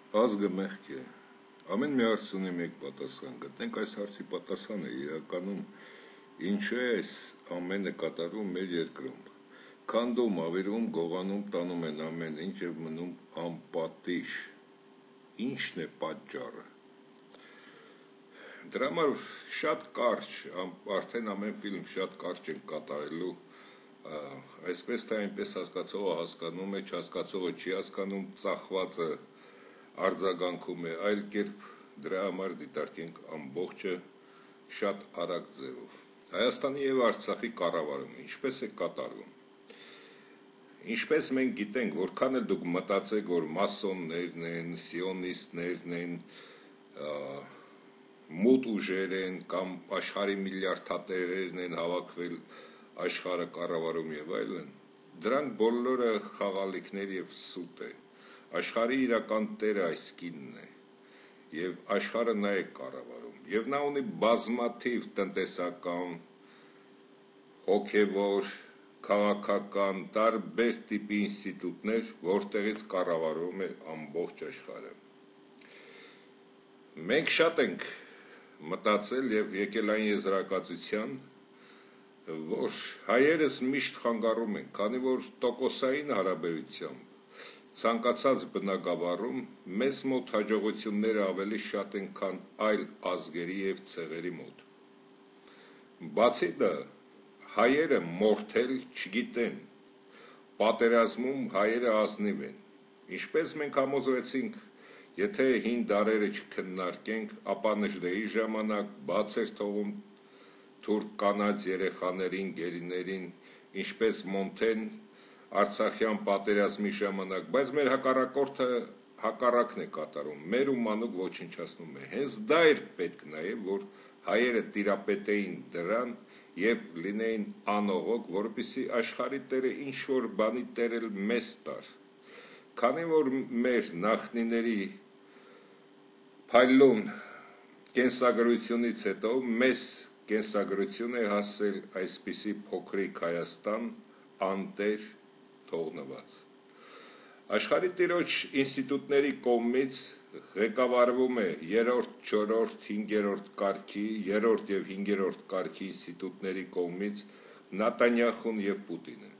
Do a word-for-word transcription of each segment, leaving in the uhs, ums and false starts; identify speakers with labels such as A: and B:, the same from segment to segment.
A: Ազգը մեղք է, ամեն մի հարց ունի մեկ պատասխան, գտնենք այս հարցի պատասխանը իրականում ինչու է այս ամենը կատարվում մեր երկրում, քանդում, ավերում, գողանում, տանում են ամեն ինչ և մնում անպատիժ, ինչն է պատճառը, դրա համար շատ կարճ, արդեն ամեն ֆիլմ շատ կարճ են կատարելու, այսպես թե այնպես հասկացողը հասկանում է, չհասկացողը չի հասկանում, ծախվածը արձագանքում է, այլ կերպ դրա համար դիտարկենք ամբողջը շատ արագ ձևով։ Հայաստանի և Արցախի կառավարումը ինչպես է կատարվում։ Ինչպես մենք գիտենք, որքան էլ դուք մտածեք, որ մասոններն են, սիոնիստներն են, մութ ուժեր են կամ աշխարհի միլիարդատերերն են հավաքվել աշխարհը կառավարում եւ այլն, դրանք բոլորը խաղալիքներ եւ սուտ է։ Աշխարհի իրական տերը այս կինն է եւ աշխարհը նա է կառավարում եւ նա ունի բազմաթիվ տնտեսական, հոգեվոր, քաղաքական, տարբեր տիպի ինստիտուտներ, որտեղից կառավարում է ամբողջ աշխարհը։ Մենք շատ ենք մտածել եւ եկել այն եզրակացության, որ հայերս միշտ խանգարում են, քանի որ տոկոսային հարաբերությամբ ցանկացած բնակավարում մեզ մոտ հաջողությունները ավելի շատ են, քան այլ ազգերի եւ ցեղերի մոտ։ Բացի դա, հայերը մորթել չգիտեն, պատերազմում հայերը ազնիվ են։ Ինչպես մենք համոզվեցինք, եթե հին դարերը չքննարկենք, ապա Նժդեի ժամանակ բաց էր թողում թուրք կանանց երեխաներին, գերիներին, ինչպես Մոնթեն Արցախյան պատերազմի ժամանակ, բայց մեր հակառակորդը հակառակն է կատարում, մեր ու մանուկ ոչնչացնում է։ Հենց դա էր պետք նաև, որ հայերը տիրապետեին դրան եւ լինեին անողոք, որպեսզի աշխարհի տերը ինչ որ բանի տերել մեզ տար։ Քանի որ մեր նախնիների փայլուն կենսագրությունից հետո մեզ կենսագրություն է հասել այսպիսի փոքրիկ Հայաստան անտեր թողնված։ Աշխարհի տիրոջ ինստիտուտների կողմից ղեկավարվում է երրորդ, չորրորդ, հինգերորդ կարգի, երրորդ եւ հինգերորդ կարգի ինստիտուտների կողմից Նետանյախուն եւ Պուտինը։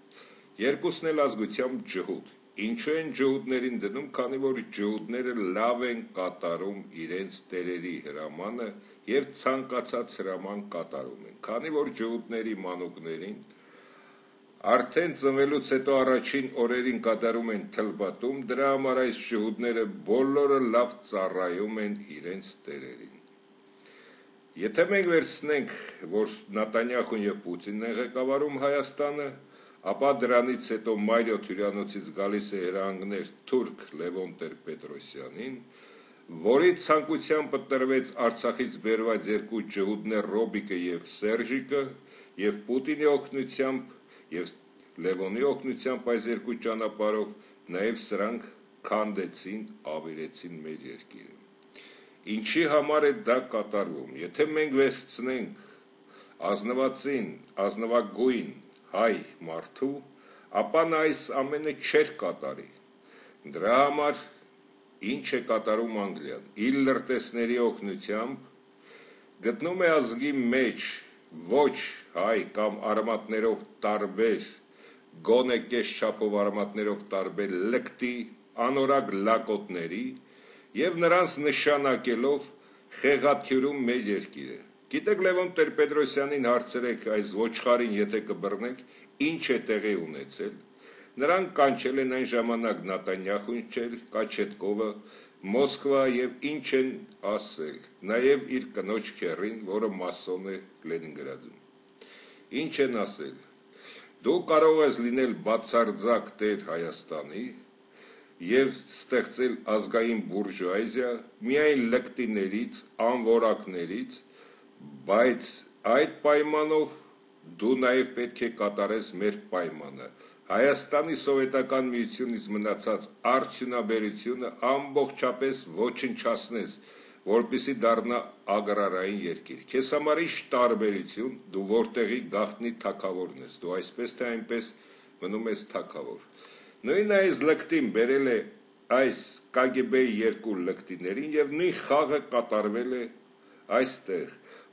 A: Երկուսն էլ ազգությամբ ջհուդ։ Ինչու են ջհուդներին դնում, քանի որ ջհուդները լավ են կատարում իրենց տերերի հրամանը եւ ցանկացած հրաման կատարում են։ Քանի որ ջհուդների մանուկներին արդեն ծնվելուց հետո առաջին օրերին կատարում են թլբատում, դրա համար այս ջհուդները բոլորը լավ ծառայում են իրենց տերերին։ Եթե մենք վերցնենք, որ Նետանյախուն եւ Պուտինն են ղեկավարում Հայաստանը, ապա դրանից հետո Մայրիոթ հյուրանոցից գալիս է հրահանգներ թուրք Լևոն Տեր-Պետրոսյանին, որի ցանկությամբ տրվեց Արցախից բերված երկու ջհուդներ Ռոբիկը եւ Սերժիկը, եւ Պուտինի օգնությամբ եւ Լևոնի օգնությամբ այս երկու ճանապարհով նաեւ սրանք քանդեցին, ավերեցին մեր երկիրը։ Ինչի համար է դա կատարվում։ Եթե մենք վերցնենք ազնվացին, ազնվագույն հայ մարդու, ապա նա այս ամենը չէր կատարի։ Դրա համար ինչ է կատարում Անգլիան։ Իր լրտեսների օգնությամբ գտնում է ազգի մեջ ոչ հայ կամ արմատներով տարբեր, գոնե կես չափով արմատներով տարբեր լկտի, անորակ լակոտների եւ նրանց նշանակելով խեղաթյուրում մեր երկիրը։ Գիտեք, Լևոն Տեր-Պետրոսյանին հարցրեք այս ոչխարին, եթե կբռնեք, ինչ է տեղի ունեցել։ Նրան կանչել են այն ժամանակ Նետանյախուն չել, Կաչետկովը, Մոսկվա եւ ինչ են ասել, նաեւ իր կնոջ քեռին, որը մասոն է Լենինգրադում։ Ինչ են ասել։ Դու կարող ես լինել բացարձակ տեր Հայաստանի եւ ստեղծել ազգային բուրժուազիա միայն լկտիներից, անորակներից, բայց այդ պայմանով դու նաև պետք է կատարես մեր պայմանը։ Հայաստանի սովետական միությունից մնացած արդյունաբերությունը ամբողջապես ոչնչացնես, որպեսզի դառնա ագրարային երկիր։ Քեզ համար ինչ տարբերություն, դու որտեղի գաղտնի թագավորն ես, դու այսպես թե այնպես մնում ես թագավոր։ Նույն այս լկտին բերել է այս K G B-ի երկու լկտիներին եւ նույն խաղը կատարվել է այստեղ,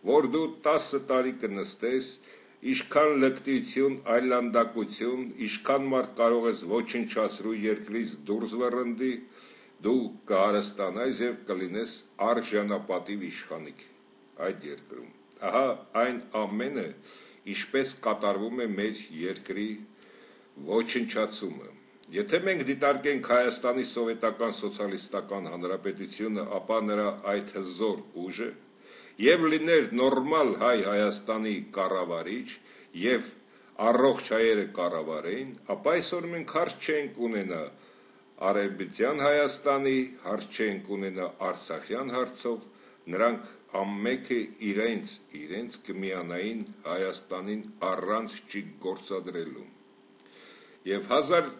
A: որ դու տասը տարի կնստես, ինչքան լկտիություն, այլանդակություն, ինչքան մարդ կարող ես ոչնչացրու երկրից դուրս վռնդի, դու կհարստանայես եւ կլինես արժանապատիվ իշխանիկ այդ երկրում։ Ահա այն ամենը, ինչպես կատարվում է մեր երկրի ոչնչացումը։ Եթե մենք դիտարկենք Հայաստանի Սովետական Սոցիալիստական Հանրապետությունը, ապա նրա այդ հզոր ուժը եւ լիներ նորմալ հայ Հայաստանի կառավարիչ եւ առողջ հայերը կառավարեին, ապա այսօր մենք հարց չենք ունենա Արևմտյան Հայաստանի, հարց չենք ունենա Արցախյան հարցով, նրանք ամենքը իրենց իրենց կմիանային Հայաստանին առանց չգործադրելու։ Եվ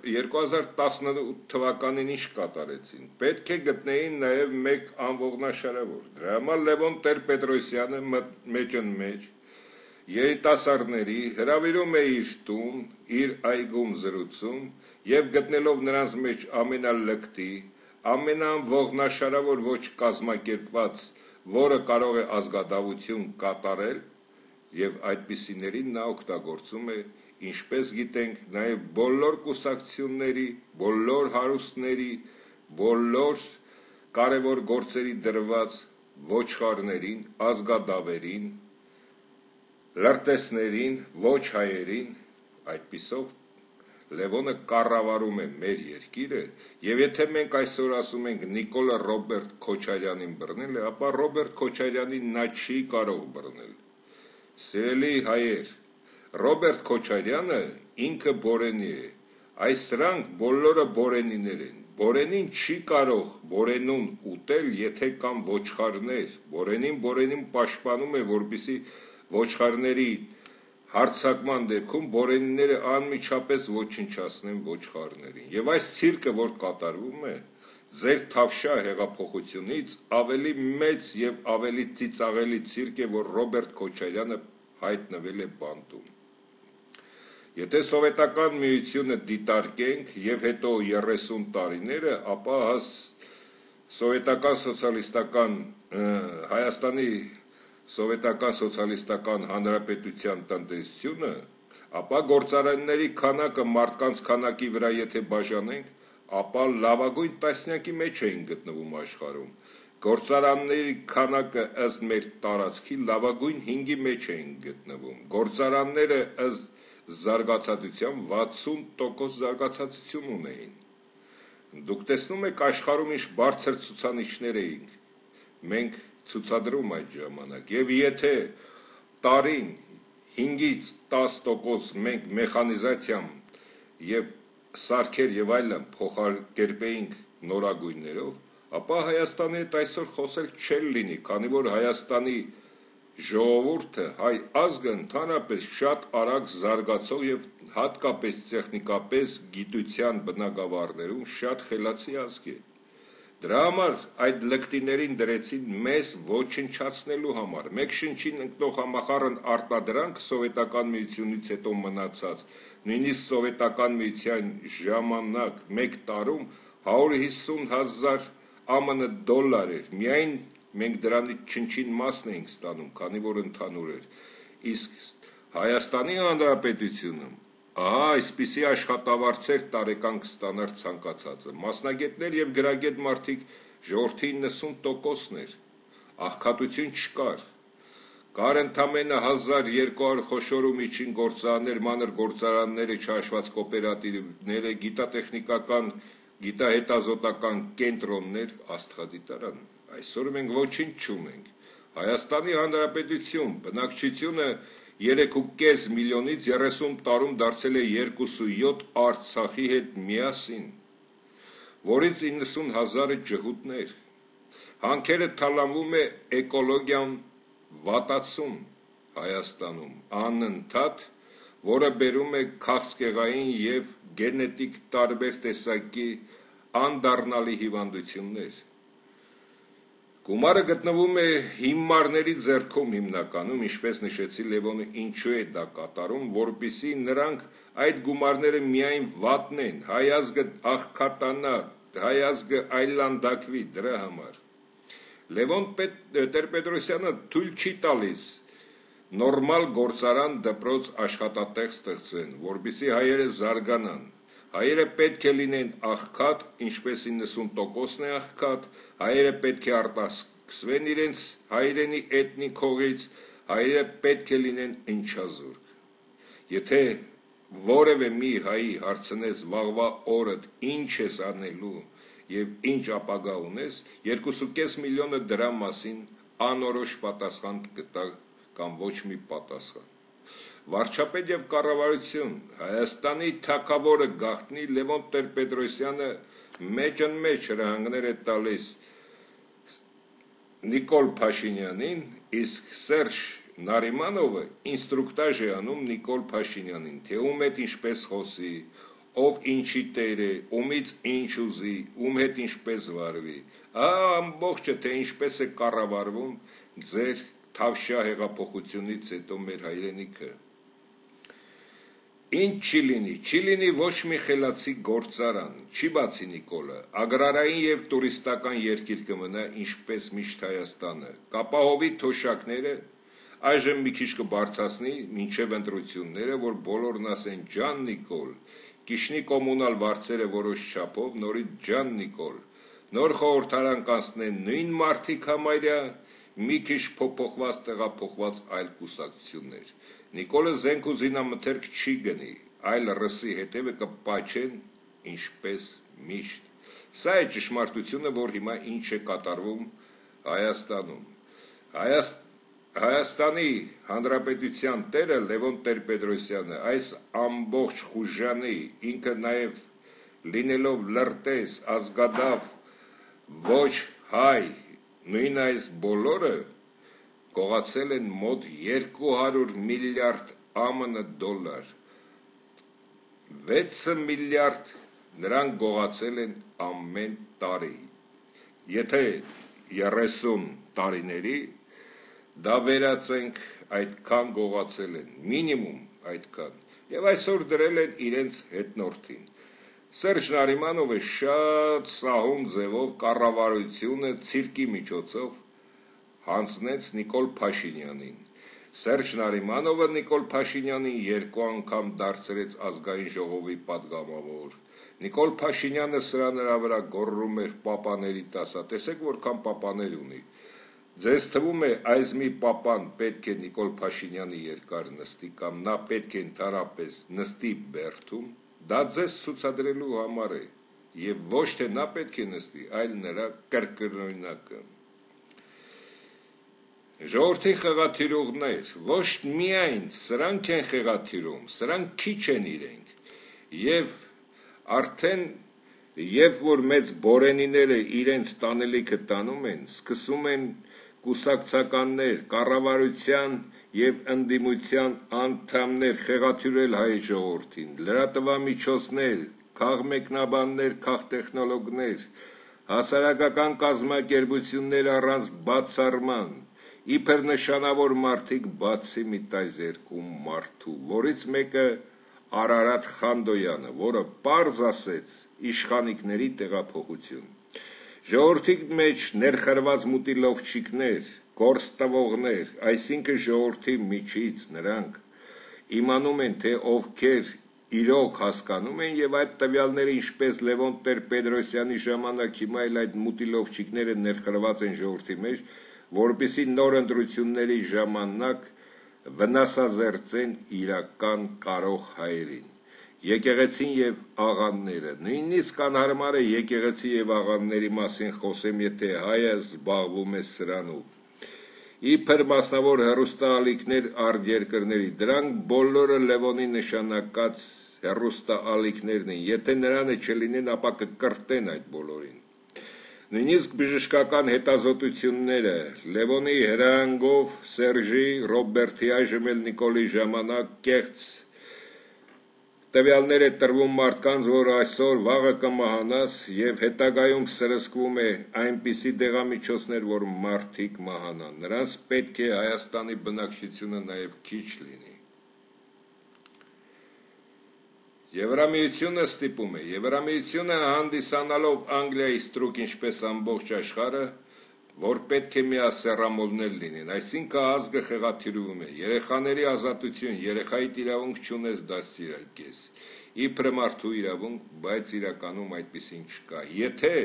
A: երկու հազար տասնութ թվականին ինչ կատարեցին, պետք է գտնեին նաև մեկ անողնաշարավոր, դրա համար Լևոն Տեր-Պետրոսյանը մեջն մեջ երիտասարդների հրավիրում է իր տուն, իր այգում զրուցում եւ գտնելով նրանց մեջ ամենալկտի, ամենաանողնաշարավոր ոչ կազմակերպված, որը կարող է ազգադավություն կատարել, եւ այդպիսիներին նա օգտագործում է, ինչպես գիտենք, նաև բոլոր կուսակցությունների, բոլոր հարուստների, բոլոր կարևոր գործերի դրված ոչխարներին, ազգադավերին, լրտեսներին, ոչ հայերին, այդպիսով Լևոնը կառավարում է մեր երկիրը, եւ եթե մենք այսօր ասում ենք Նիկոլա Ռոբերտ Քոչարյանին բռնել է, ապա Ռոբերտ Քոչարյանին նա չի կարող բռնել։ Սիրելի հայեր, Ռոբերտ Քոչարյանը ինքը Բորենի է, այս սրանք բոլորը Բորենիներ են, Բորենին չի կարող Բորենուն ուտել, եթե կան ոչխարներ, Բորենին Բորենին պաշտպանում է, որպեսզի ոչխարների հարցակման դեպքում Բորենիները անմիջապես ոչնչացնեն ոչխարներին, եւ այս ցիրկը, որ կատարվում է, ձեր Թավշյա հեղափոխությունից ավելի մեծ եւ ավելի ծիծաղելի ցիրկ է, որ Ռոբերտ Քոչարյանը հայտնվել է բանտում։ Եթե սովետական միությունը դիտարկենք եւ հետո երեսուն տարիները, ապա սովետական սոցիալիստական Հայաստանի Սովետական Սոցիալիստական Հանրապետության տնտեսությունը, ապա գործարանների քանակը մարդկանց քանակի վրա եթե բաժանենք, ապա լավագույն տասնյակի մեջ էին գտնվում աշխարհում։ Գործարանների քանակը ըստ մեր տարածքի լավագույն հինգի մեջ էին գտնվում։ Գործարանները ըստ զարգացածության վաթսուն տոկոս զարգացածություն ունեին։ Դուք տեսնում եք աշխարհում ինչ բարձր ցուցանիշներ էին մենք ցուցադրում այդ ժամանակ, եւ եթե տարին հինգից տաս տոկոս մենք մեխանիզացիամ եւ սարքեր եւ այլն փոխարկերպեինք նորագույններով, ապա Հայաստանի հետ այսօր խոսել չել լինի, քանի որ Հայաստանի ժողովուրդը, հայ ազգը ընդհանրապես շատ արագ զարգացող եւ հատկապես տեխնիկապես գիտության բնագավառներում շատ խելացի ազգ է։ Դրա համար այդ լկտիներին դրեցին մեզ ոչնչացնելու համար։ Մեկ շնչին ընկնող համախառն արտադրանք սովետական միությունից հետո մնացած, նույնիսկ սովետական միության ժամանակ մեկ տարում հարյուր հիսուն հազար ԱՄՆ դոլար էր, միայն մենք դրանից չնչին մասն էինք ստանում, քանի որ ընդհանուր էր, իսկ Հայաստանի Հանրապետությունում ահա այսպիսի աշխատավարձեր տարեկան կստանար ցանկացածը, մասնագետներ եւ գրագետ մարդիկ ժողովրդի իննսուն տոկոսն էր, աղքատություն չկար, կար ընդամենը հազար երկու հարյուր խոշոր ու միջին գործարաններ, մանր գործարանները, չհաշված կոոպերատիվները, գիտատեխնիկական, գիտահետազոտական կենտրոններ, աստղադիտարան։ Այսօր մենք ոչինչ չունենք։ Հայաստանի Հանրապետություն բնակչությունը երեք ու կես միլիոնից երեսուն տարում դարձել է երկուսույոթ Արցախի հետ միասին, որից իննսուն հազարը ջհուդներ։ Հանքերը թալանվում է էկոլոգիան վատացում Հայաստանում, անընդհատ, որը բերում է քաղցկեղային եւ գենետիկ տարբեր տեսակի անդառնալի հիվանդություններ։ Գումարը գտնվում է հիմարների ձեռքում հիմնականում, ինչպես նշեցի Լևոնը, ինչու է դա կատարում, որպեսզի նրանք այդ գումարները միայն վատնեն, հայ ազգը աղքատանա, հայ ազգը այլանդակվի դրա համար։ Լևոն Տեր-Պետրոսյանը թույլ չի տալիս նորմալ գործարան դպրոց աշխատատեղ ստեղծեն, որպեսզի հայերը զարգանան։ Հայերը պետք է լինեն աղքատ, ինչպես իննսուն տոկոսն է աղքատ, հայերը պետք է արտասկսվեն իրենց հայրենի էթնիկ հողից, հայերը պետք է լինեն ընչազուրկ։ Եթե որևէ մի հայի հարցնես վաղվա օրդ ինչ ես անելու եւ ինչ ապագա ունես, երկու կես միլիոնը դրա մասին անորոշ պատասխան կտա կամ ոչ մի պատասխան։ Վարչապետ եւ կառավարություն, Հայաստանի թագավորը գաղտնի Լևոն Տեր-Պետրոսյանը մեջն-մեջ հրահանգներ է տալիս Նիկոլ Փաշինյանին, իսկ Սերժ Նարիմանովը ինստրուկտաժ է անում Նիկոլ Փաշինյանին, թե ում հետ ինչպես խոսի, ով ինչի տեր է, ումից ինչ ուզի, ում հետ ինչպես վարվի, ամբողջը թե ինչպես է կառավարվում ձեր Թավշյա հեղափոխությունից հետո մեր հայրենիքը։ Ինչ չի լինի, չի լինի ոչ մի խելացի գործարան, չի բացի Նիկոլը, ագրարային եւ տուրիստական երկիր կմնա ինչպես միշտ Հայաստանը, կապահովի թոշակները, այժմ մի քիչ կբարձրացնի մինչև ընտրությունները, որ բոլորն ասեն ջան Նիկոլ, Կիշնի կոմունալ վարձերը որոշ չափով, նորից ջան Նիկոլ, նոր խորհրդարան կանցնեն նույն մարդիկ համարյա, մի քիչ փոփոխված տեղափոխված այլ կուսակցություններ։ Նիկոլը զենք ու զինամթերք չի գնի, այլ ռսի հետևը կպաչեն ինչպես միշտ։ Սա է ճշմարտությունը, որ հիմա ինչ է կատարվում Հայաստանում։ Հայաց... Հայաստանի Հանրապետության տերը Լևոն Տեր-Պետրոսյանը այս ամբողջ խուժանի, ինքը նաև լինելով լրտես, ազգադավ, ոչ հայ, նույն այս բոլորը գողացել են մոտ երկու հարյուր միլիարդ ԱՄՆ դոլար, վեց միլիարդ նրանք գողացել են ամեն տարի, եթե երեսուն տարիների դա վերացենք այդքան գողացել են, մինիմում այդքան, և այսօր դրել են իրենց հետնորդին։ Սերժ Նարիմանովը շատ սահուն ձևով կառավարությունը ցիրկի միջոցով հանձնեց Նիկոլ Փաշինյանին։ Սերժ Նարիմանովը Նիկոլ Փաշինյանին երկու անգամ դարձրեց ազգային ժողովի պատգամավոր։ Նիկոլ Փաշինյանը սրա նրա վրա գոռում էր պապաների տասա, տեսեք որքան պապաներ ունի։ Ձեզ թվում է այս մի պապան պետք է Նիկոլ Փաշինյանի երկար նստի կամ նա պետք է ընդհանրապես նստի բերդում, դա ձեզ ցուցադրելու համար է, եւ ոչ թե նա պետք է նստի, այլ նրա կրկնօրինակը։ Ժողովրդի խեղաթյուրողներ, ոչ միայն սրանք են խեղաթյուրում, սրանք քիչ են իրենք, եւ արդեն եւ որ մեծ բորենիները իրենց տանելիքը տանում են, սկսում են կուսակցականներ, կառավարության եւ ընդդիմության անդամներ խեղաթյուրել հայ ժողովրդին, լրատվամիջոցներ, քաղմեկնաբաններ, քաղտեխնոլոգներ, հասարակական կազմակերպություններ առանց բացառման, իբր նշանավոր մարդիկ բացի մի տայ երկու մարդու, որից մեկը Արարատ Խանդոյանը, որը պարզ ասեց իշխանիկների տեղափոխություն։ Ժողովրդի մեջ ներխրված մուտիլովչիկներ, գործ տվողներ, այսինքն ժողովրդի միջից նրանք իմանում են, թե ովքեր իրոք հասկանում են եւ այդ տվյալները ինչպես Լևոն Տեր-Պետրոսյանի ժամանակ հիմա էլ այդ մուտիլովչիկները ներխրված են ժողովրդի մեջ, որպեսզի նոր ընտրությունների ժամանակ վնասազերծեն իրական կարող հայերին։ Եկեղեցին եւ աղանները, նույնիսկ անհարմար է եկեղեցի եւ աղանների մասին խոսեմ, եթե հայը զբաղվում է սրանով։ Իբր մասնավոր հեռուստաալիքներ արտերկրների, դրանք բոլորը Լևոնի նշանակած հեռուստաալիքներն են, եթե նրանը չլինեն, ապա կկրտեն այդ բոլորին։ Նույնիսկ բժշկական հետազոտությունները Լևոնի հրահանգով Սերժի, Ռոբերտի, այժմ էլ Նիկոլի ժամանակ կեղծ տվյալներ է տրվում մարդկանց, որ այսօր վաղը կմահանաս եւ հետագայում սրսկվում է այնպիսի դեղամիջոցներ, որ մարդիկ մահանան։ Նրանց պետք է Հայաստանի բնակչությունը նաեւ քիչ լինի։ Եվրամիությունը ստիպում է, Եվրամիությունը հանդիսանալով Անգլիայի ստրուկ ինչպես ամբողջ աշխարհը, որ պետք է միասեռամոլներ լինեն, այսինքն ազգը խեղաթյուրվում է, երեխաների ազատություն, երեխայի իրավունք չունես դաստիարակես, իբրը մարդու իրավունք, բայց իրականում այդպիսին չկա, եթե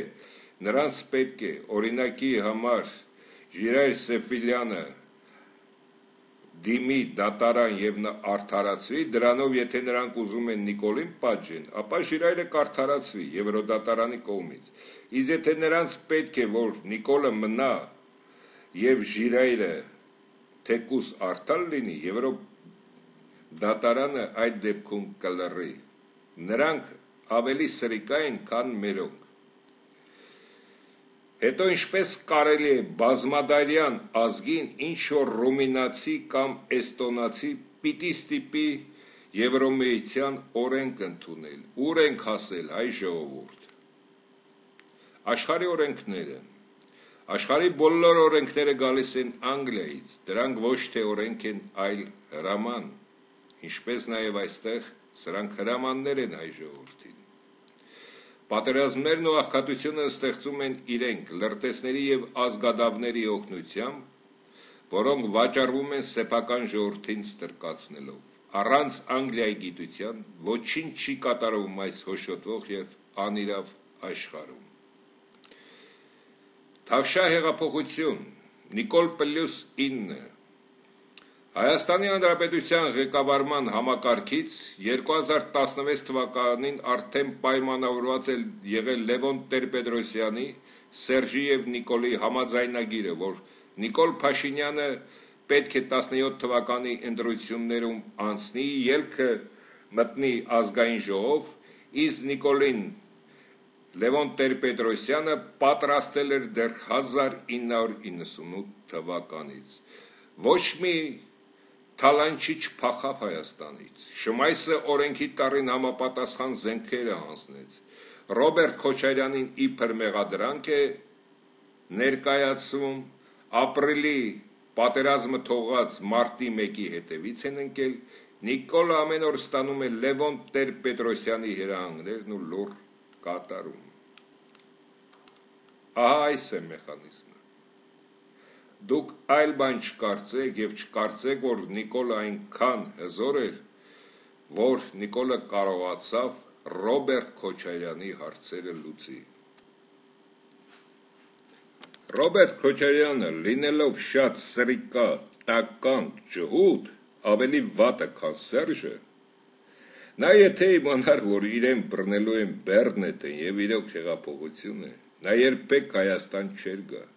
A: նրանց պետք է օրինակի համար Ժիրայր Սեֆիլյանը դիմի դատարան եւ նա արդարացվի, դրանով եթե նրանք ուզում են Նիկոլին պատժեն, ապա Ժիրայրը կարդարացվի Եվրոդատարանի կողմից։ Իսկ եթե նրանց պետք է, որ Նիկոլը մնա եւ Ժիրայրը թեկուս արդար լինի, Եվրոդատարանը այդ դեպքում կլռի։ Նրանք ավելի սրիկա են, քան մերոնք։ Հետո ինչպես կարելի է բազմադարյան ազգին ինչ-որ ռումինացի կամ էստոնացի պիտի ստիպի Եվրոմիության օրենք ընդունել, ուր ենք հասել հայ ժողովուրդ։ Աշխարհի օրենքները, աշխարհի բոլոր օրենքները գալիս են Անգլիայից, դրանք ոչ թե օրենք են, այլ հրաման, ինչպես նաև այստեղ սրանք հրամաններ են հայ ժողովրդին։ Պատերազմներն ու աղքատությունը ստեղծում են իրենք լրտեսների եւ ազգադավների օգնությամբ, որոնք վաճառվում են սեփական ժողովրդին ստրկացնելով։ Առանց Անգլիայի գիտության ոչինչ չի կատարվում այս հոշոտվող եւ անիրավ աշխարհում։ Թավշյա հեղափոխություն Նիկոլ պլյուս ինը Հայաստանի Հանրապետության ղեկավարման համակարգից երկու հազար տասնվեց թվականին արդեն պայմանավորված է եղել Լևոն Տեր-Պետրոսյանի, Սերժի եւ Նիկոլի համաձայնագիրը, որ Նիկոլ Փաշինյանը պետք է տասնյոթ թվականի ընտրություններում անցնի, ելքը մտնի ազգային ժողով, իսկ Նիկոլին Լևոն Տեր-Պետրոսյանը պատրաստել էր դեռ հազար ինը հարյուր իննսունութ թվականից։ Ոչ մի թալանչի չփախավ Հայաստանից, Շմայսը օրենքի տառին համապատասխան զենքերը հանձնեց, Ռոբերտ Քոչարյանին իբր մեղադրանք է ներկայացում, ապրիլի պատերազմը թողած մարտի մեկի հետևից են ընկել, Նիկոլը ամեն օր ստանում է Լևոն Տեր-Պետրոսյանի հրահանգներն ու լուռ կատարում։ Ահա այս է մեխանիզմը։ Դուք այլ բան չկարծեք եւ չկարծեք, որ Նիկոլը այնքան հզոր էր, որ Նիկոլը կարողացավ Ռոբերտ Քոչարյանի հարցերը լուծի։ Ռոբերտ Քոչարյանը, լինելով շատ սրիկա, տականք, ջհուդ, ավելի վատը, քան Սերժը, նա եթե իմանար, որ իրեն բռնելու են Բեռնետը եւ իրոք հեղափոխություն է, նա երբեք Հայաստան չէր գա։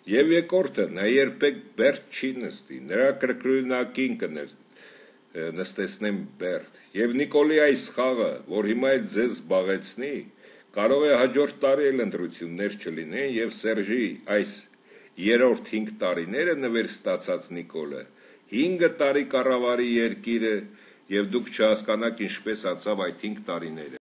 A: Եվ երկրորդը, նա երբեք Բերդ չի նստի, նրա կրկնակին կներ նստեցնեն Բերդ, եւ Նիկոլի այս խաղը, որ հիմա էլ ձեզ զբաղեցնի, կարող է հաջորդ տարի էլ ընտրություններ չլինեն եւ Սերժի այս երրորդ հինգ տարիները նվեր ստացած Նիկոլը հինգ տարի կառավարի երկիրը եւ դուք չհասկանաք ինչպես անցավ այդ հինգ տարիները։